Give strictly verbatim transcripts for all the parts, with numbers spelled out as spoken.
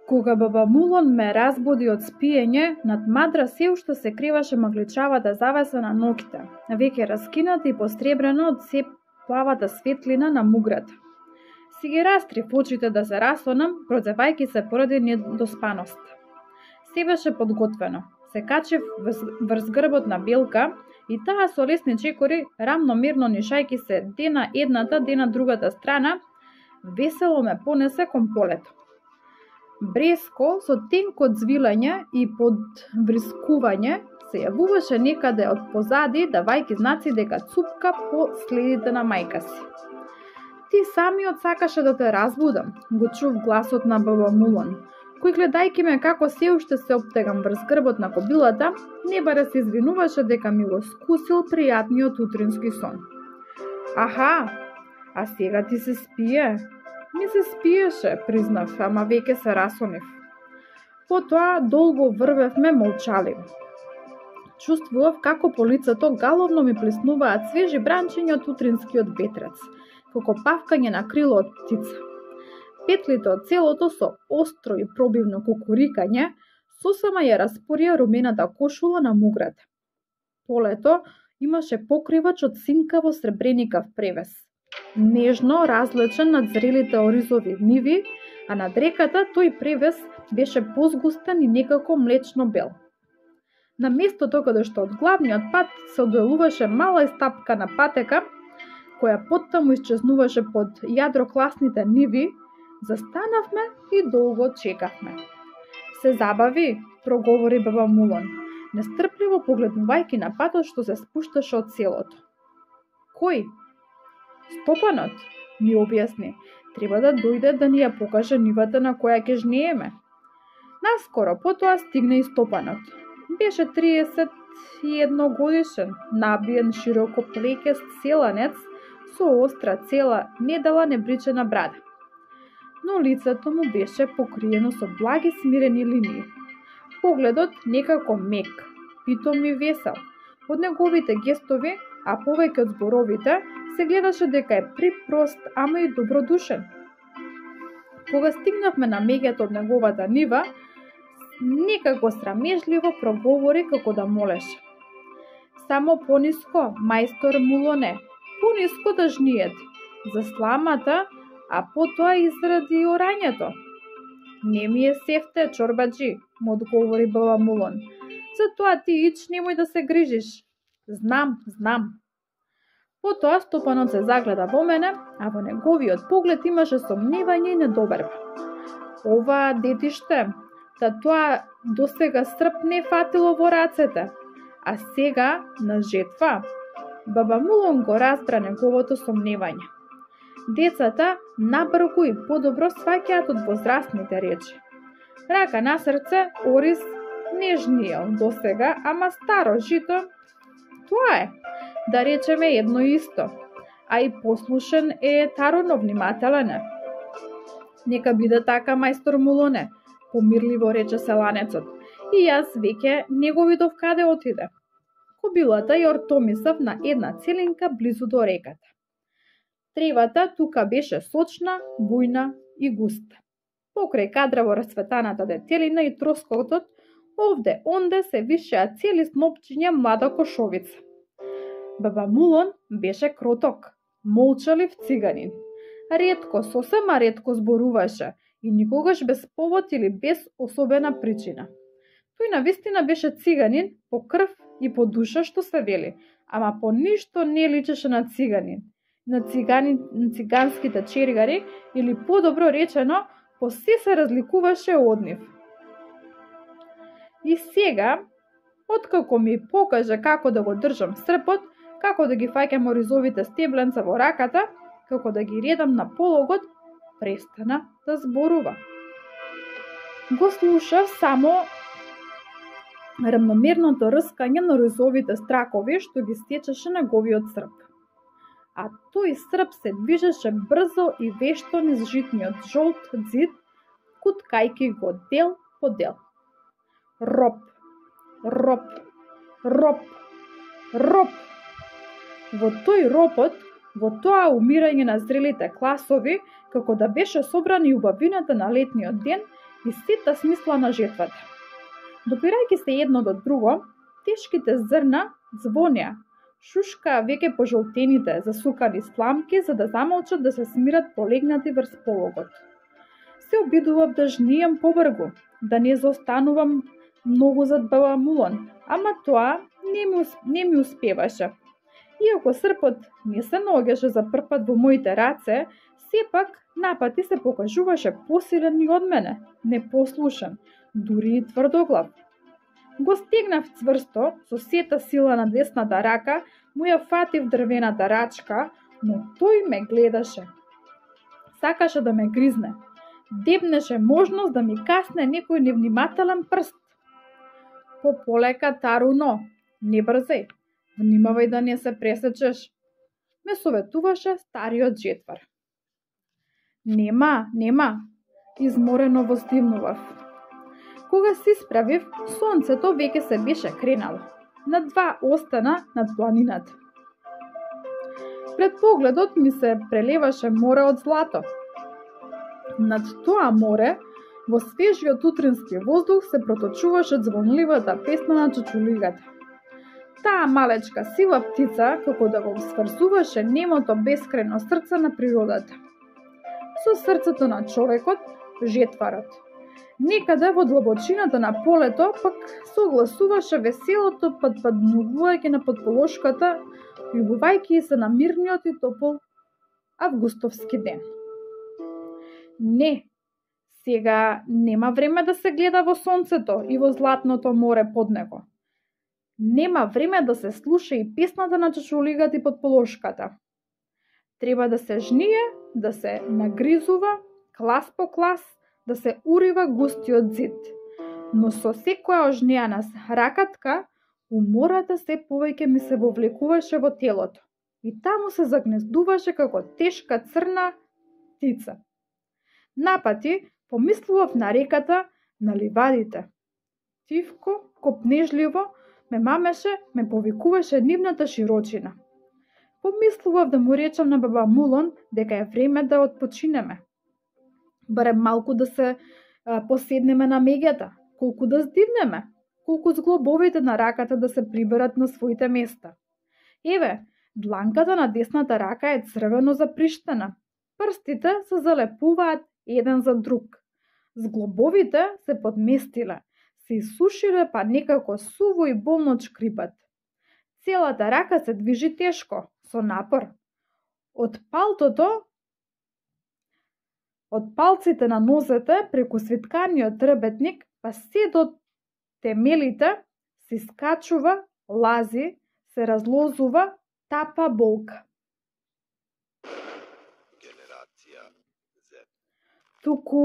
Кога баба Мулон ме разбуди од спиење, над мадра се уште се криваше магличавата завеса на ноќта, веќе раскината и посребрена од се плавата светлина на муграта. Си ги растрив очите да се расонам, продзевајќи се поради недоспаност. Се беше подготвено. Се качив врз грбот на Белка и таа со лесни чекори, рамномерно нишајќи се дена едната, дена другата страна, весело ме понесе кон полето. Бреско со тенко звилање и подврискување се јавуваше некаде од позади, давајќи знаци дека цупка по следите на мајка си. Ти самиот сакаше да те разбудам, го чув гласот на баба Мулон, кој гледајќи ме како се уште се оптегам врз грбот на кобилата, не баре се извинуваше дека ми го скусил пријатниот утрински сон. Аха, а сега ти се спие? Ми се спиеше, признав, ама веќе се расонив. Потоа долго врвевме молчаливо. Чувствував како по лицето галовно ми плеснуваат свежи бранчиња од утринскиот ветрец, како павкање на крило од птица. Петлите од целото со остро и пробивно кукурикање сосема ја распорија румената кошула на муграта. Полето имаше покривач од синкаво сребреникав превес, нежно различен над зрелите оризови ниви, а над реката тој превес беше позгустен и некако млечно бел. На местото каде што од главниот пат се одделуваше мала истапкана патека, која поттаму исчезнуваше под јадрокласните ниви, застанавме и долго чекавме. Се забави, проговори баба Мулон, нестрпливо погледнувајќи на патот што се спушташе од селото. Кој? Стопанот, ми објасни, треба да дојде да ни ја покаже нивата на која ќе жнееме. Наскоро потоа стигна и Стопанот. Беше триесет и едно годишен, набиен широко плекест селанец со остра цела недела небричена брада. Но лицето му беше покриено со благи смирени линии. Погледот некако мек, питом и весел. Од неговите гестови, а повеќе од зборовите, се гледаше дека е припрост, ама и добродушен. Кога стигнавме на меѓето од неговата нива, некако срамежливо проговори како да молеше. Само пониско, мајстор Мулоне, пониско да жниете, за сламата, а потоа и заради орањето. Не ми е сефте, чорбаджи, му одговори баба Мулон. Затоа ти ич немој да се грижиш. Знам, знам. Потоа Стопанот се загледа во мене, а во неговиот поглед имаше сомневање и недоверба. Ова детиште, та тоа досега срп не фатило во рацете, а сега на жетва. Баба Мулон го разбра неговото сомневање. Децата набрзо и подобро сваќаат од возрастните речи. Рака на срце, ориз не жниел досега, ама старо жито, тоа е, да речеме едно исто, а и послушен е таруно внимателен е. Нека биде така, мајстор Мулоне, помирливо рече селанецот, и јас веќе не го видов каде отиде. Кобилата ја ортомисав на една целинка близу до реката. Тревата тука беше сочна, бујна и густа. Покрај кадраво расцветаната детелина и троскотот, овде онде се вишеа цели снопчиња млада кошовица. Баба Мулон беше кроток, молчалив циганин. Ретко, сосема ретко зборуваше и никогаш без повод или без особена причина. Тој навистина беше циганин по крв и по душа, што се вели, ама по ништо не личеше на циганин, на, цигани, на циганските чергари или подобро речено, по се се разликуваше од нив. И сега, откако ми покаже како да го држам српот, како да ги фаќам оризовите стебленца во раката, како да ги редам на пологот, престана да зборува. Го слушав само рамномерното рскање на оризовите стракови што ги стечеше неговиот срп. А тој срп се движеше брзо и вешто низ житниот жолт зид, куткајки го дел по дел. Роп, роп, роп, роп. Во тој ропот, во тоа умирање на зрелите класови, како да беше собрана и убавината на летниот ден, и сета смисла на жетвата. Допирајќи се едно до друго, тешките зрна звонеа, шушкаа веќе пожолтените, засукани сламки за да замолчат да се смират полегнати врз пологот. Се обидував да жнијам побргу, да не заостанувам многу зад баба Мулон, ама тоа не ми, не ми успеваше. Иако српот не се наоѓаше за прв пат во моите раце, сепак напати се покажуваше посилен и од мене, непослушен, дури и тврдоглав. Го стегнав цврсто, со сета сила на десната рака, му ја фатив дрвената рачка, но тој ме гледаше. Сакаше да ме гризне. Дебнеше можност да ми касне некој невнимателен прст. По-полека, Таруно, не брзај, внимавај да не се пресечеш, ме советуваше стариот жетвар. Нема, нема, изморено воздивнував. Кога се исправив, сонцето веќе се беше кренало. На два остана над планината. Пред погледот ми се прелеваше море од злато. Над тоа море, во свежиот утрински воздух се проточуваше звонливата песна на чучулигата. Таа малечка сива птица како да го сврзуваше немото бескрајно срце на природата со срцето на човекот, жетварот. Некаде во длабочината на полето пак согласуваше веселото падпаднување на подполошката, љубувајќи се на мирниот и топол августовски ден. Не, сега нема време да се гледа во сонцето и во златното море под него. Нема време да се слуша и песната на чучулигата и подполошката. Треба да се жние, да се нагризува, клас по клас, да се урива густиот зид. Но со секоја ожнеана ракатка, умората се повеќе ми се вовлекуваше во телото и таму се загнездуваше како тешка црна птица. Напати помислував на реката, на ливадите. Тивко, копнежливо, ме мамеше, ме повикуваше нивната широчина. Помислував да му речам на баба Мулон дека е време да отпочинеме. Барем малку да се а, поседнеме на меѓата, колку да здивнеме, колку зглобовите на раката да се приберат на своите места. Еве, дланката на десната рака е црвено заприштена. Прстите се залепуваат еден за друг. Зглобовите се подместиле, се исушиле па некако суво и болно чкрипат. Целата рака се движи тешко, со напор. Од палтото, од палците на нозете, преку свитканиот трбетник, па се до темелите, се скачува, лази, се разлозува, тапа болка. Генерација Z. Туку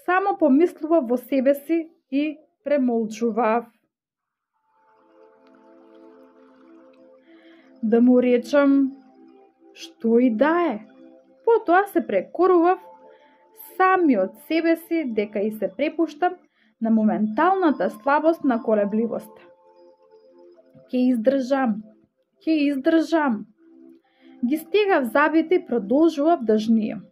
само помислува во себе си и премолчував. Да му речам што и да е. Потоа се прекорував сами од себе си дека и се препуштам на моменталната слабост на колебливост. Ке издржам, ке издржам. Ги стегав забите и продолжував да жнијам.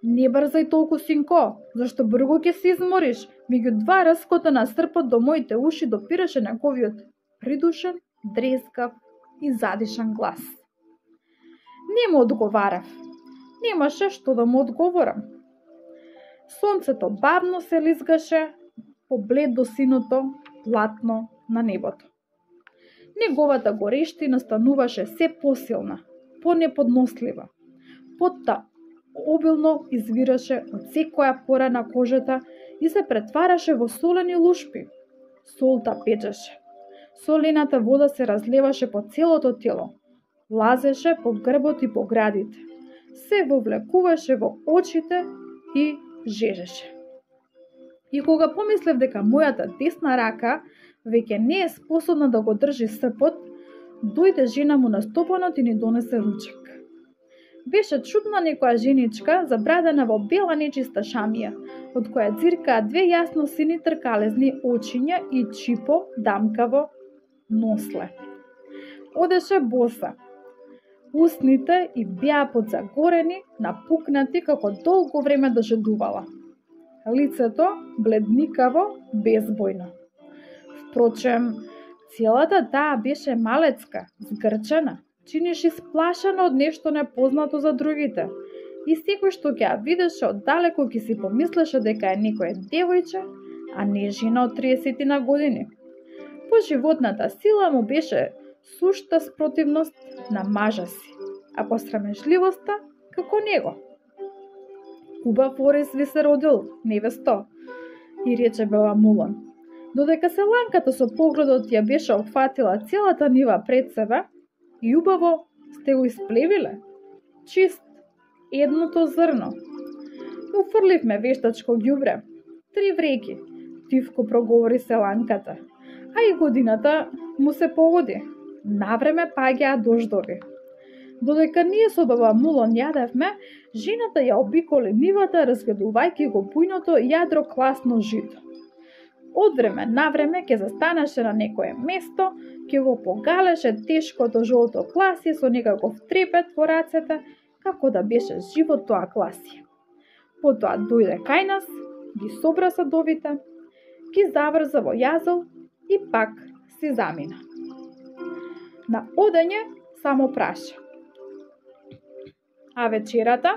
Не брзај толку, синко, зашто брзо ќе се измориш. Меѓу два раскота на српот до моите уши допираше неговиот придушен, дрескав и задишан глас. Не му одговарав. Немаше што да му одговорам. Сонцето бавно се лизгаше по бледо синото платно на небото. Неговата горештина стануваше се посилна, понеподнослива. Потта обилно извираше од секоја пора на кожата и се претвараше во солени лушпи. Солта печеше. Солената вода се разлеваше по целото тело, лазеше по грбот и по градите, се вовлекуваше во очите и жежеше. И кога помислев дека мојата десна рака веќе не е способна да го држи српот, дојде жена му на стопанот и ни донесе ручек. Беше чудна некоја женичка, забрадена во бела нечиста шамија, од која ѕиркаа две јасно сини тркалезни очиња и чипо дамкаво носле. Одеше боса. Усните и беа подзагорени, напукнати како долго време дожедувала. лицето бледникаво, безбојно. Впрочем, целата таа беше малецка, згрчена, чинеше сплашена од нешто непознато за другите. И секој што ќе ја видеше оддалеку ќе си помислеше дека е некој девојче, а не жена од триесет на години. По животната сила му беше сушта спротивност на мажа си, а по срамежливоста како него. Убав орис ви се родил, невесто, и рече баба Мулон. Додека селанката со погледот ја беше опфатила целата нива пред себе, и убаво сте го исплевиле, чист, едното зрно. Уфрливме вештачко ѓубре, три вреки, тивко проговори селанката, а и годината му се погоди. Навреме паѓаа дождови. Додека ние со баба Мулон јадевме, жената ја обиколи нивата, разгледувајќи го бујното јадро класно жито. Од време на време ќе застанеше на некое место, ќе го погалеше тешкото жолто класие со некаков трепет во рацете, како да беше живо тоа класие. Потоа дојде кај нас, ги собра садовите, ги заврза во јазол и пак си замина. На одење само праша. А вечерата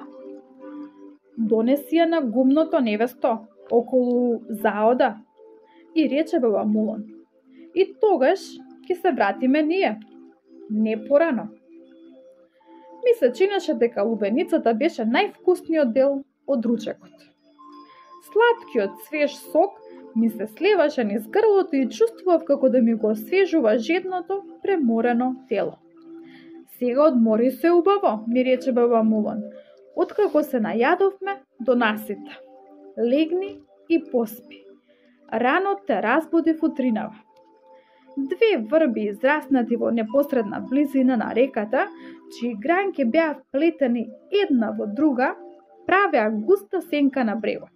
донеси ја на гумното невесто околу заода и рече баба Мулон. И тогаш ќе се вратиме ние, не порано. Ми се чинеше дека лубеницата беше највкусниот дел од ручекот. Сладкиот свеж сок ми се сливаше низ грлото и чувствував како да ми го освежува жедното, преморено тело. Сега одмори се убаво, ми рече баба Мулон. Откако се најадовме до насита. Легни и поспи. Рано те разбудив утринава. Две врби израснати во непосредна близина на реката, чии гранки беа вплетени една во друга, правеа густа сенка на брегот.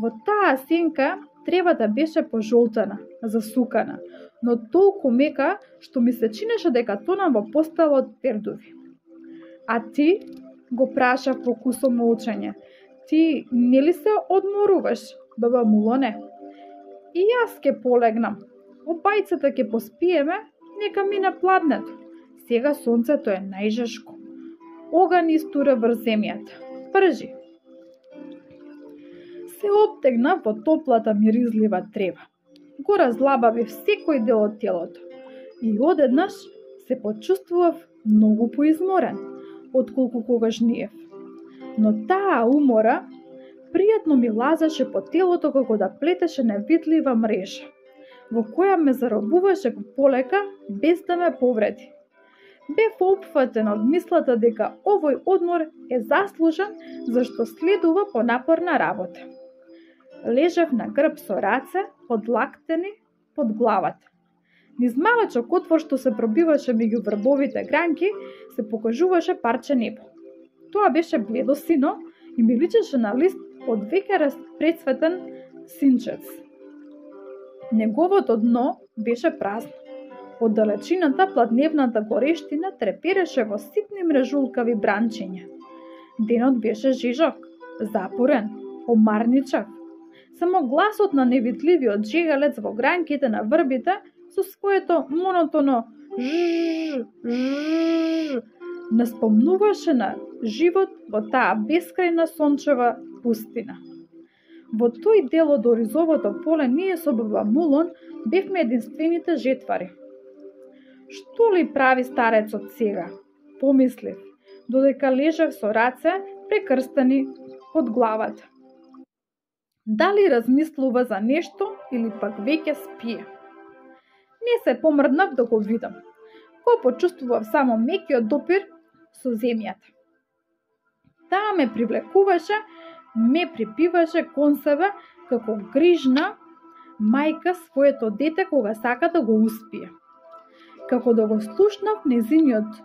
Во таа сенка тревата беше пожолтена, засукана, но толку мека што ми се чинеше дека тонам во постела од пердуви. А ти, го праша по кусо молчање, ти нели се одморуваш, баба Мулоне? И јас ке полегнам. Обајцата ке поспиеме, нека мине пладнето. Сега сонцето е најжешко. Оган истура врз земјата. Бржи. Се обтегна во топлата миризлива трева. Го разлабавив секој дел од телото. И одеднаш се почувствував многу поизморен, отколку когаш ниев. Но таа умора пријатно ми лазаше по телото како да плетеше невидлива мрежа, во која ме заробуваше полека без да ме повреди. Бев опфатен од мислата дека овој одмор е заслужен зашто следува понапорна работа. Лежев на грб со раце подлактени под главата. Низ малечок отвор што се пробиваше меѓу врбовите гранки се покажуваше парче небо. Тоа беше бледо сино и ми личеше на лист од веќе прецветен синчец. Неговото дно беше празно. Од далечината пладневната горештина трепереше во ситни мрежулкави бранчиња. Денот беше жижок, запорен, омарничав. Само гласот на невидливиот жегалец во гранките на врбите со своето монотоно жж, жж, наспомнуваше на живот во таа бескрајна сончева пустина. Во тој дел од оризовото поле ние со баба Мулон бевме единствените жетвари. Што ли прави старецот сега? Помислив, додека лежев со раце прекрстени под главата. Дали размислува за нешто или пак веќе спие? Не се помрднав да го видам. Го почувствував само мекиот допир со земјата. Таа ме привлекуваше, ме припиваше кон себе како грижна мајка своето дете кога сака да го успие. Како да го слушнав незиниот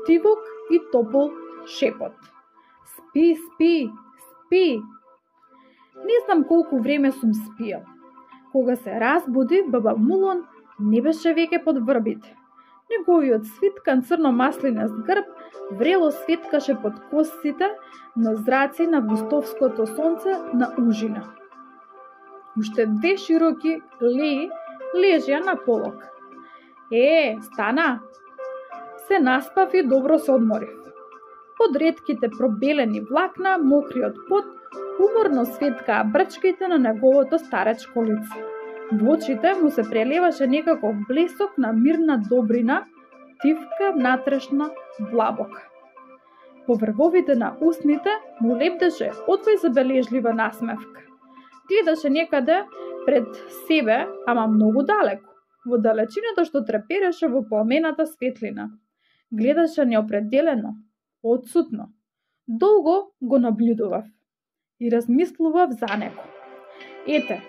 тивок и топол шепот. Спи, спи, спи. Не знам колку време сум спиел. Кога се разбудив, баба Мулон не беше веќе под врбите. неговиот свиткан црно-маслинест грб врело светкаше под косците на зраци на августовското сонце на ужина. Уште две широки леи лежеа на полок. Е, стана! Се наспав и добро се одморив. Под ретките пробелени влакна, мокриот пот, уморно светкаа брчките на неговото старечко лице. Во очите му се прелеваше некаков блесок на мирна добрина, тивка, натрешна блабока. По врвовите на устните му лепдеше одвој забележлива насмевка. Гледаше некаде пред себе, ама многу далеко, во далечината што трепереше во пламената светлина. Гледаше неопределено, отсутно. Долго го наблюдував и размислував за него. Ете,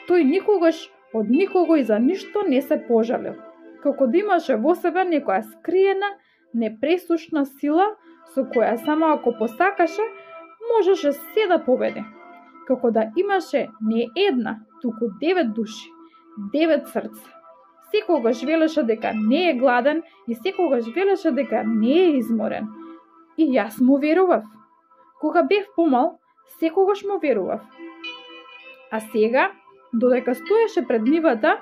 тој никогаш од никого и за ништо не се пожалил, како да имаше во себе некоја скриена, непресушна сила, со која само ако посакаше, можеше се да победи. Како да имаше не една, туку девет души, девет срца. Секогаш велеше дека не е гладен и секогаш велеше дека не е изморен. И јас му верував. Кога бев помал, секогаш му верував. А сега, додека стоеше пред нивата,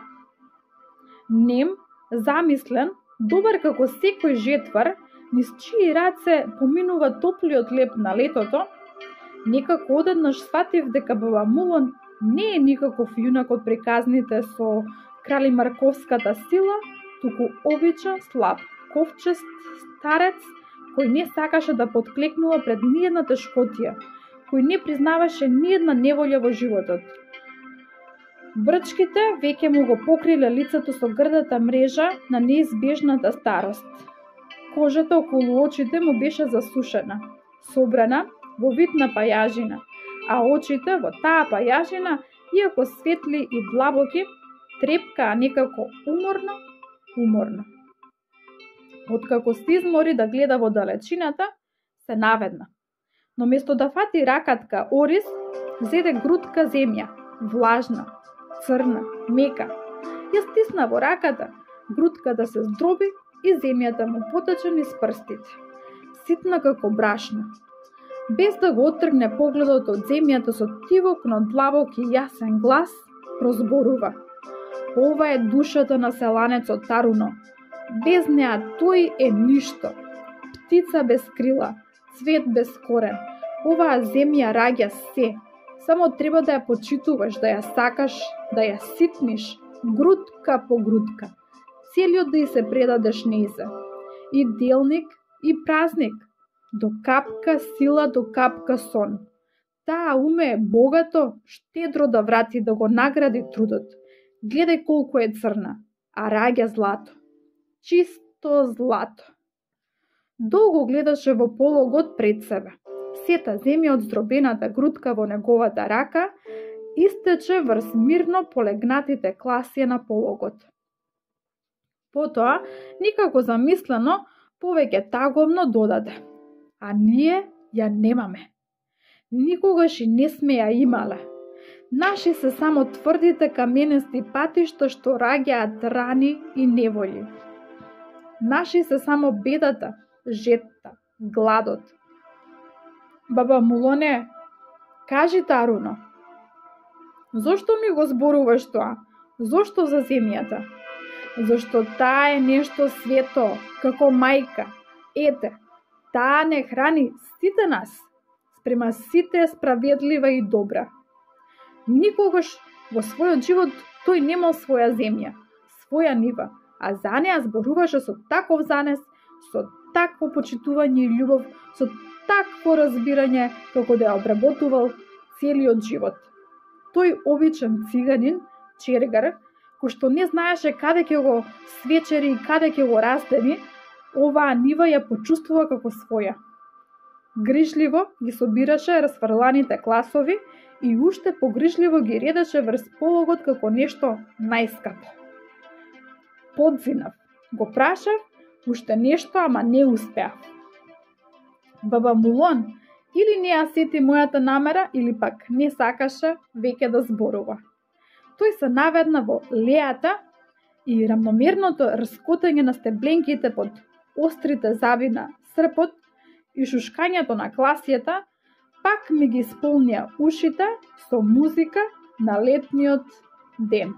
нем, замислен, добар како секој жетвар, низ чии раце поминува топлиот леп на летото, некако одеднаш сватив дека баба Мулон не е никаков јунак од приказните со крали Марковската сила, туку обичен, слаб, ковчест старец, кој не сакаше да подклекнува пред ниедна тешкотија, кој не признаваше ниедна неволја во животот. Брчките веќе му го покриле лицето со грдата мрежа на неизбежната старост. Кожата околу очите му беше засушена, собрана во вид на пајажина, а очите во таа пајажина, иако светли и длабоки, трепкаа некако уморно, уморно. Откако се измори да гледа во далечината, се наведна. Но место да фати ракатка ориз, зеде грудка земја, влажна, црна, мека. Ја стисна во раката, грудката се здроби и земјата му потече низ прстите, ситна како брашно. Без да го оттргне погледот од земјата со тивок, но длабок и јасен глас, прозборува. Ова е душата на селанецот Таруно. Без неа тој е ништо. Птица без крила, цвет без корен. Оваа земја раѓа се. Само треба да ја почитуваш, да ја сакаш, да ја ситниш, грудка по грудка. Целиот да ја се предадеш нејзе. И делник, и празник. До капка сила, до капка сон. Таа умее богато, штедро да врати, да го награди трудот. Гледај колку е црна, а раѓа злато. Чисто злато. Долго гледаше во пологот пред себе. Сета земја од здробената грудка во неговата рака истече врз мирно полегнатите класија на пологот. Потоа, никако замислено, повеќе таговно додаде. А ние ја немаме. Никогаш и не сме ја имале. Наши се само тврдите каменести патишта што раѓаат рани и неволи. Наши се само бедата, жетта, гладот. Баба Мулоне, кажи Таруно, зошто ми го зборуваш тоа? Зошто за земјата? Зошто таа е нешто свето, како мајка. Ете, таа не храни сите нас, спрема сите е справедлива и добра. Никогаш во својот живот тој немал своја земја, своја нива, а за неа зборуваше со таков занес, со такво почитување и љубов, со такво разбирање како да ја обработувал целиот живот. Тој обичен циганин, чергар, кој што не знаеше каде ќе го свечери и каде ќе го раздени, оваа нива ја почувствува како своја. Грижливо ги собираше расфрланите класови и уште погрижливо ги редеше врз пологот како нешто најскапо. Подзинав, го прашав, уште нешто, ама не успеав. Баба Мулон или не ја сети мојата намера, или пак не сакаше веќе да зборува. Тој се наведна во лејата и рамномерното раскотање на стебленките под острите заби на српот и шушкањето на класијата пак ми ги исполнија ушите со музика на летниот ден.